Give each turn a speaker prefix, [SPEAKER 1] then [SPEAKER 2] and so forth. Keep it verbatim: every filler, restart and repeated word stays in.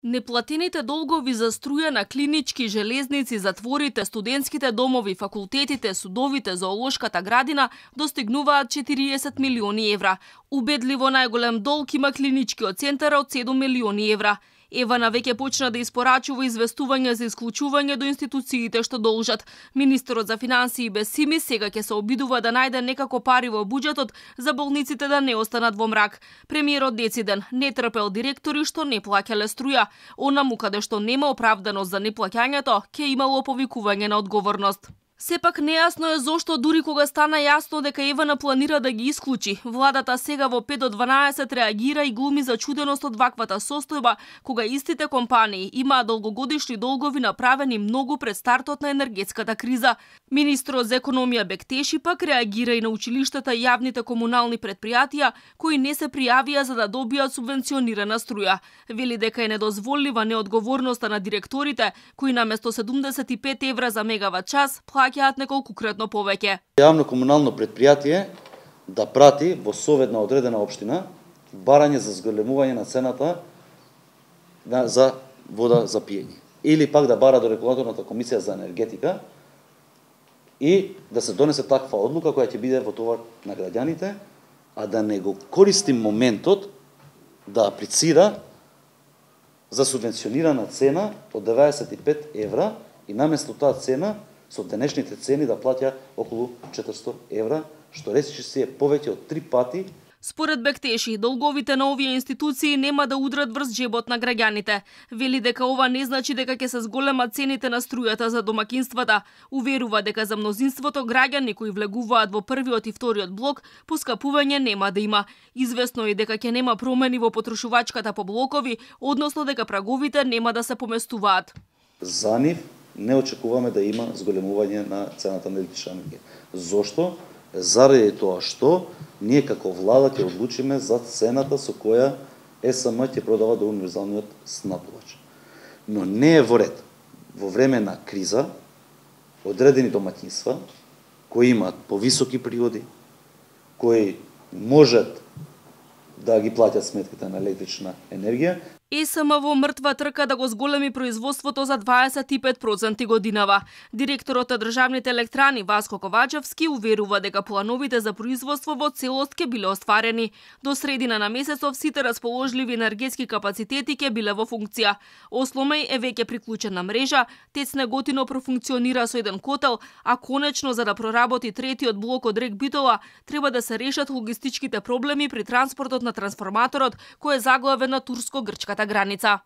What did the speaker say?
[SPEAKER 1] Неплатените долгови за струја на клинички, железници, затворите, студентските домови, факултетите, судовите, зоолошката градина достигнуваат четириесет милиони евра. Убедливо најголем долг има клиничкиот центар од седум милиони евра. Евана веќе почна да испорачува известување за исклучување до институциите што должат. Министерот за финансии Бесими сега ќе се обидува да најде некако пари во буџетот за болниците да не останат во мрак. Премиерот дециден не трпел директори што не плаќале струја. Онаму каде што нема оправданост за неплаќањето, ќе имало повикување на одговорност. Сепак нејасно е зошто дури кога стана јасно дека Евана планира да ги исклучи, владата сега во пет до дванаесет реагира и глуми зачуденост од ваквата состојба, кога истите компании имаат долгогодишни долгови направени многу пред стартот на енергетската криза. Министрот за економија Бектеши пак реагира и на училиштата и јавните комунални предпријатија кои не се пријавија за да добијат субвенционирана струја. Вели дека е недозволлива неодговорноста на директорите кои наместо седумдесет и пет евра за мегават час плаќаат неколкукратно повеќе.
[SPEAKER 2] Јавно комунално предпријатие да прати во совет на одредена општина барање за зголемување на цената за вода за пиење. Или пак да бара до регулаторната комисија за енергетика и да се донесе таква одлука која ќе биде во товар на граѓаните, а да не го користи моментот да аплицира за субвенционирана цена од деветдесет и пет евра и наместо таа цена со денешните цени да плаќа околу четиристотини евра, што речиси се повеќе од три пати.
[SPEAKER 1] Според Бектеши, долговите на овие институции нема да удрат врз джебот на граѓаните. Вели дека ова не значи дека ќе се зголемат цените на струјата за домакинствата. Уверува дека за мнозинството граѓани кои влегуваат во првиот и вториот блок, поскапување нема да има. Известно е дека ќе нема промени во потрошувачката по блокови, односно дека праговите нема да се поместуваат.
[SPEAKER 2] За нив не очекуваме да има зголемување на цената на електрична енергија. Зошто? Заради тоа што ние како влада ќе одлучиме за цената со која ЕСМ ќе продава до универзалниот снабдувач. Но не е во ред во време на криза одредени домаќинства кои имаат повисоки приходи, кои можат да ги плаќат сметките на електрична енергија,
[SPEAKER 1] ЕСМ во мртва трка да го зголеми производството за дваесет и пет проценти годинава. Директорот на државните електрани Васко Ковачевски уверува дека плановите за производство во целост ќе биле остварени. До средина на месецов сите расположливи енергетски капацитети ќе биле во функција. Осломеј е веќе приклучена мрежа, ТЕЦ Неготино профункционира со еден котел, а конечно за да проработи третиот блок од Рек Битола треба да се решат логистичките проблеми при транспортот на трансформаторот кој е заглавен на турско-грчката граница.